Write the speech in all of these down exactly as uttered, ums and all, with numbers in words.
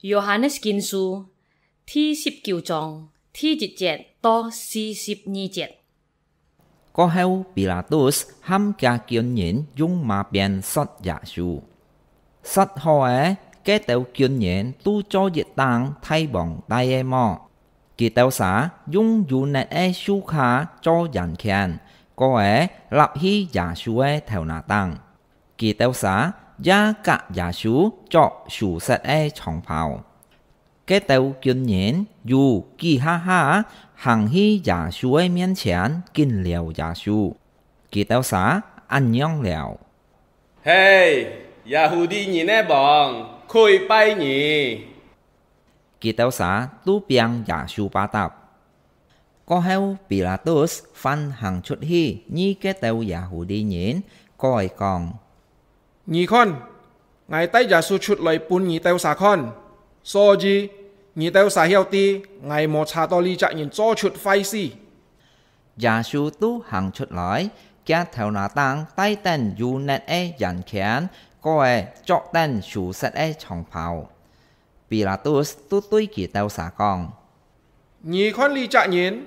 Yohanes Kinsu第十九章第一節到四十二節。過後，Pilatus喊厥軍人用馬鞭搡耶穌。搡好咧，該兜軍人都做一頂大王戴个帽，佢兜儕用油衲个繡卡做圓圈，過咧立去耶穌个頭那頂。 佢兜儕也佮耶穌著泅色个長袍。該兜軍人有幾下下行去耶穌个面前，緊撩耶穌。佢兜儕恁樣撩：「嘿，耶穌人个王，跪拜你！」 佢兜儕都拚耶穌巴踏。過後，Pilatus還行出去，遇該兜Yahudi人，過來講：「你看，𠊎帶耶穌出來分你兜儕看，所以你兜儕曉得，𠊎無查到這隻人做出壞事。」 耶穌都行出來，厥頭那頂戴等油衲个圓圈，過咧著等泅色个長袍。Pilatus都對佢兜儕講：「你看這隻人！」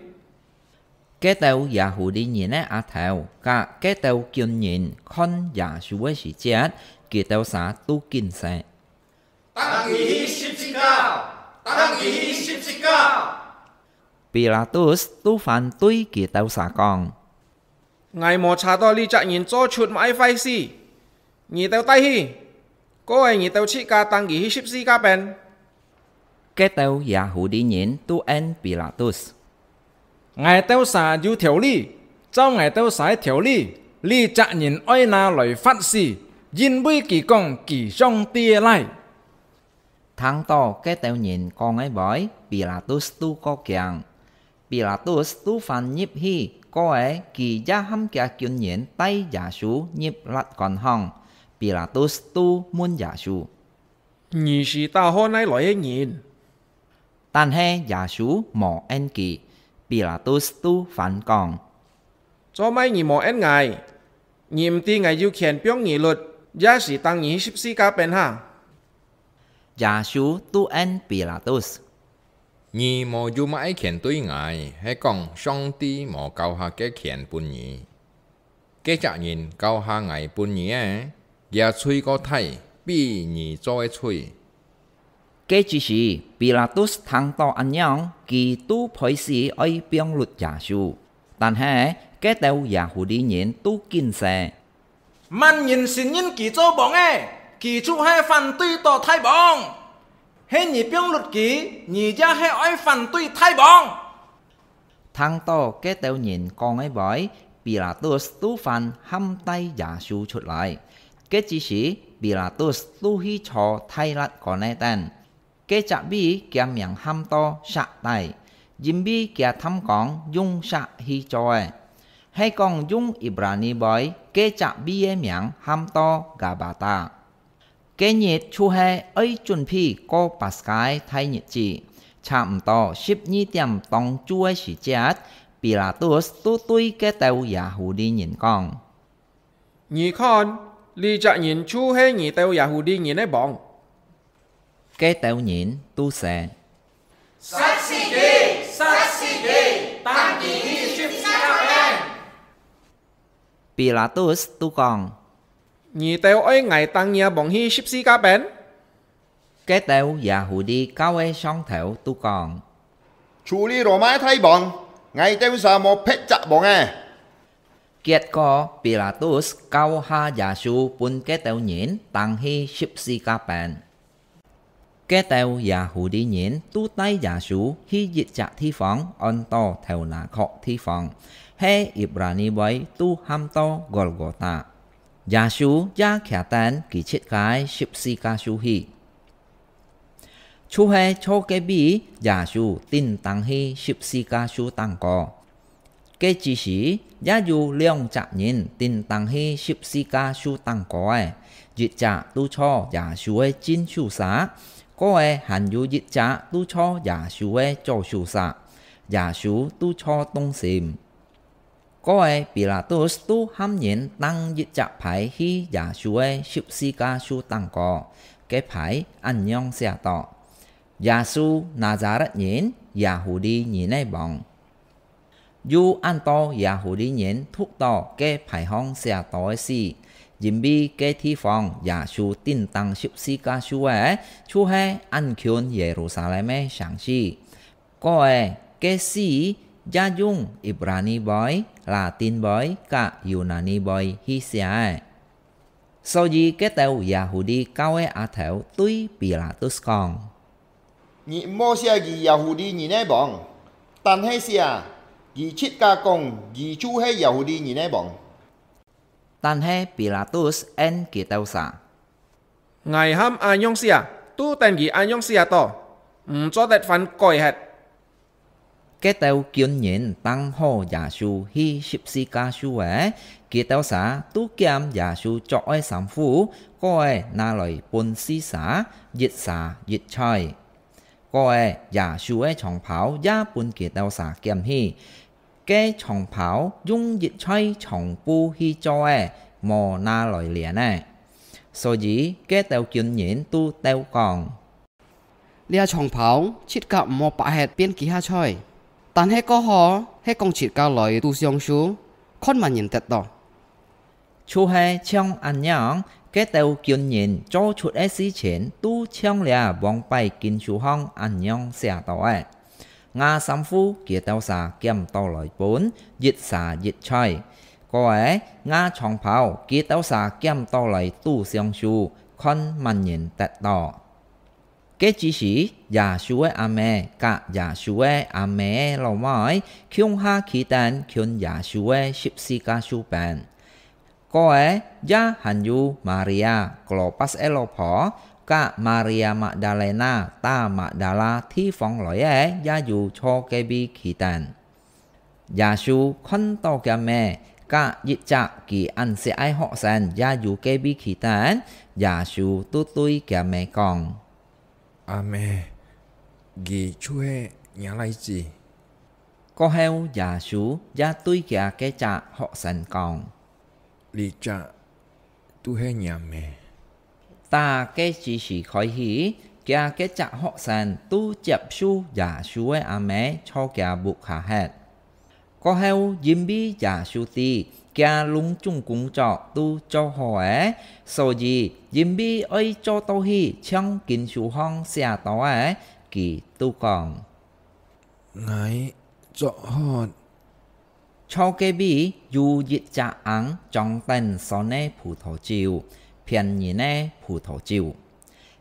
該兜Yahudi人个阿頭佮該兜軍人看耶穌个時節，佢兜儕都緊說：「 「釘佢去十字架！釘佢去十字架！」Pilatus都還對佢兜儕講：「𠊎無查到這隻人做出麼个壞事，你兜帶去，過咧你兜自家釘佢去十字架邊。」該兜Yahudi人都應Pilatus： 「𠊎兜儕有條理，照𠊎兜儕个條理，這隻人愛拿來罰死，因為佢講佢上帝个倈。」聽到該兜人講个話，Pilatus都過驚。Pilatus都還入去，過咧佢也喊厥軍人帶耶穌入律官巷。Pilatus都問耶穌： 「你是打號哪來个人？」但係耶穌無應佢。Pilatus都還講：「做麼你無應𠊎？你毋知𠊎有權放你律，也係釘你去十字架邊哈？」耶穌都應Pilatus：「你無有麼个權對𠊎，係講上帝無交下該權分你。 該隻人交下𠊎分你个，厥罪過大，比你做个罪。」該之時，Pilatus聽到恁樣，佢都背時愛放律耶穌。但係該兜Yahudi人都緊說：「麼人承認佢做王个，佢就係反對到大王！係你放律佢，你也係愛反對大王！」 聽到該兜人講个話，Pilatus都還喊帶耶穌出來。該之時，Pilatus都去坐大律官个凳。該隻位厥名喊到石底，因為厥探講用石去做个。係講用Ibrani話，該隻位个名喊到Gabata。 該日就係愛準備過Paskha个大日子，差毋多十二點當晝个時節，Pilatus都對該兜Yahudi人講：「你看，這隻人就係你兜Yahudi人个王！」該兜人都說：「殺死佢！殺死佢！釘佢去十字架邊！」Pilatus都講：「你兜愛𠊎釘若王去十字架邊？」該兜Yahudi教个上頭都講：「除了羅馬个大王，𠊎兜儕無別隻王个。」結果Pilatus交下耶穌分該兜人釘去十字架邊。 該兜Yahudi人都帶耶穌去一隻地方，安到頭那殼地方，係Ibrani話都喊到Golgota。耶穌也擎等佢自家个十字架樹去。就係坐該位，耶穌釘等去十字架樹頂高。 該之時，也有兩隻人釘等去十字架樹頂高个，一隻都坐耶穌个正手儕，過个還有一隻都坐耶穌个左手儕，耶穌都坐當心。過个Pilatus都喊人釘一隻牌去耶穌个十字架樹頂高，該牌恁樣寫到：耶穌，拿撒勒人，耶戶利人个王。有恁多耶戶利人讀到該牌項寫到个字，因為該地方耶穌釘當十字架樹个，就係恁近耶路撒冷个城市。 過个，該字也用Ibrani話、拉丁話佮Yunani話去寫个。所以該兜耶戶利教个阿頭對彼拉多講：「你毋好寫佢耶戶利人个王，但係寫，佢自家講佢就係耶戶利人个王。」 但係彼拉多應佢兜儕：「𠊎喊恁樣寫，都等佢恁樣寫到，毋做得翻改忒。」該兜軍人當好耶穌去十字架樹仔，佢兜儕都撿耶穌著个衫褲，過仔拿來分四儕，一儕一材。 過仔耶穌个長袍也分佢兜儕撿去。該長袍用一材長布去做个，無拿來鍊个。所以該兜軍人都鬥講：「這長袍自家毋好擘忒變其他材，但係過好係講自家來堵相輸，看麼人得到。」 就係像恁樣，該兜軍人做出个事情都像這往擺經書項恁樣寫到个：「吾衫褲佢兜儕撿到來分，一儕一材。」過仔吾長袍佢兜儕撿到來堵相輸，看麼人得到。 該之時，耶穌个阿姆佮耶穌个阿姆个老妹共下企等近耶穌个十字架樹邊。過仔也還有Maria，Klopas个老婆，佮Maria Magdalena打Magdala地方來个也有坐該位企等。 耶穌看到厥姆，佮一隻佢恁惜个學生也有該位企等，耶穌都對厥姆講：「阿姆，佢就係若倈子。」過後耶穌也對厥該隻學生講： 這隻都係若姆。打該之時開始，厥該隻學生都接受耶穌个阿姆坐厥屋下歇。過後，因為耶穌知厥攏總工作都做好了，所以因為愛做到去像經書項寫到个，佢都講：「𠊎做好。」 坐該位有一隻甕裝等酸个葡萄酒，騙人个葡萄酒。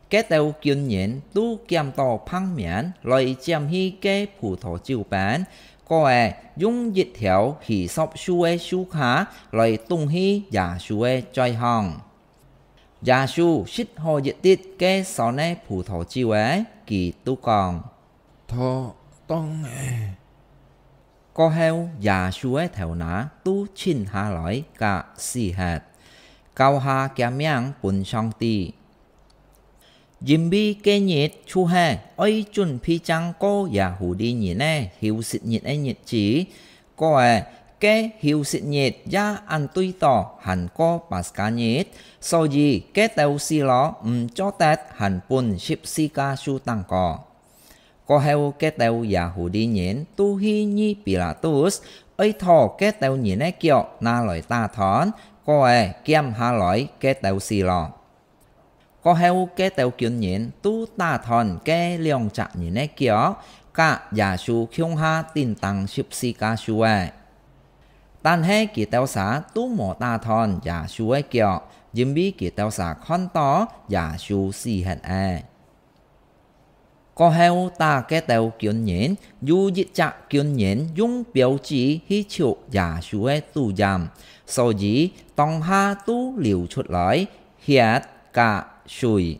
該兜軍人都撿到旁面來拈去該葡萄酒邊，過仔用一條hyssop樹个樹椏來堵去耶穌个嘴項。耶穌食好一滴該酸个葡萄酒仔，佢都講：「妥當了。」 過後，耶穌个頭那都伸下來佮死忒，交下厥命分上帝。因為該日就係愛準備正過耶戶利人个休息日个日子，過仔該休息日也恁對著還過Paska日，所以該兜死囉毋做得還分十字架樹頂高。 過後該兜耶戶利人都去議Pilatus，愛討該兜人个腳拿來打斷，過仔撿下來該兜死囉。過後該兜軍人都打斷該兩隻人个腳，佮耶穌共下釘當十字架樹仔。但係佢兜儕都無打斷耶穌个腳，因為佢兜儕看著耶穌死忒了。 過後打該兜軍人，有一隻軍人用標誌去戳耶穌个肚臍，所以當下都流出來血佮水。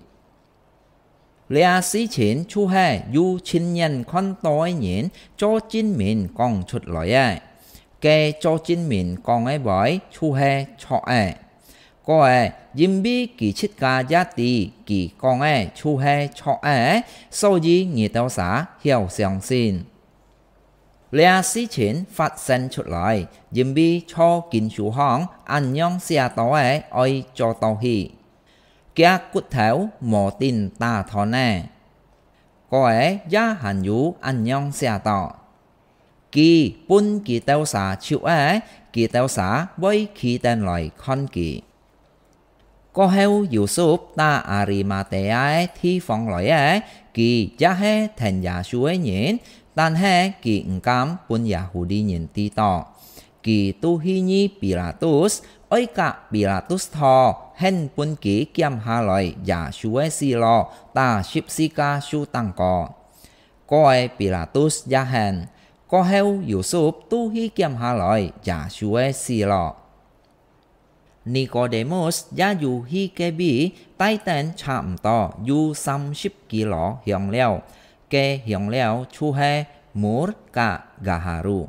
這事情就係有親眼看著个人做證明講出來个。 該做證明講个話就係著个。過仔，因為佢自家也知佢講个就係著个，所以你兜儕曉相信。這事情發生出來，因為在經書項恁樣寫著个愛做到去：「厥骨頭無釘打斷呢。」該也還有恁樣寫到：佢分佢兜儕手仔，佢兜儕會企等來看佢。過後，Yusuf打Arimatea个地方來个，佢也係跈耶穌个人，但係佢毋敢分耶穌人知道。佢就去遇Pilatus，哀佮Pilatus討，肯分佢撿下來耶穌个死路，打十字架樹頂高。該Pilatus也肯，過後Yusuf就去撿下來耶穌个死路。 Nikodemus也有去該位帶等差毋多有三十kilo香料，該香料就係mur佮gaharu。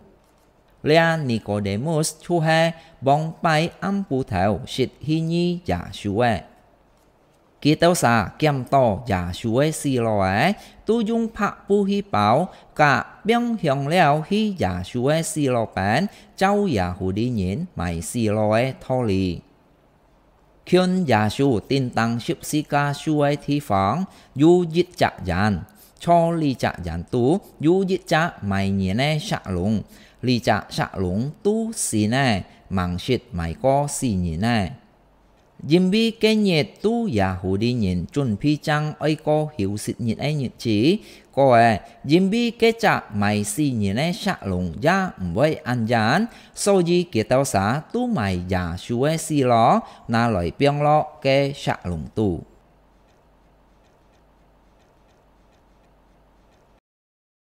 這Nikodemus就係往擺暗晡頭識去遇耶穌个。佢兜儕撿到耶穌个死路仔，就用白布去包，佮放香料去耶穌个死路邊， 照耶穌人賣死路个道理。近耶穌釘當十字架樹个地方，有一隻園，在這隻園肚有一隻賣人个石龍，這隻石龍就死呢，吂識賣過死人呢。 因為該日就耶穌人準備正愛過休息日个日子，過仔，因為該隻賣死人个石龍也毋會恁遠，所以佢兜儕就賣耶穌个死路，拿來放落該石龍肚。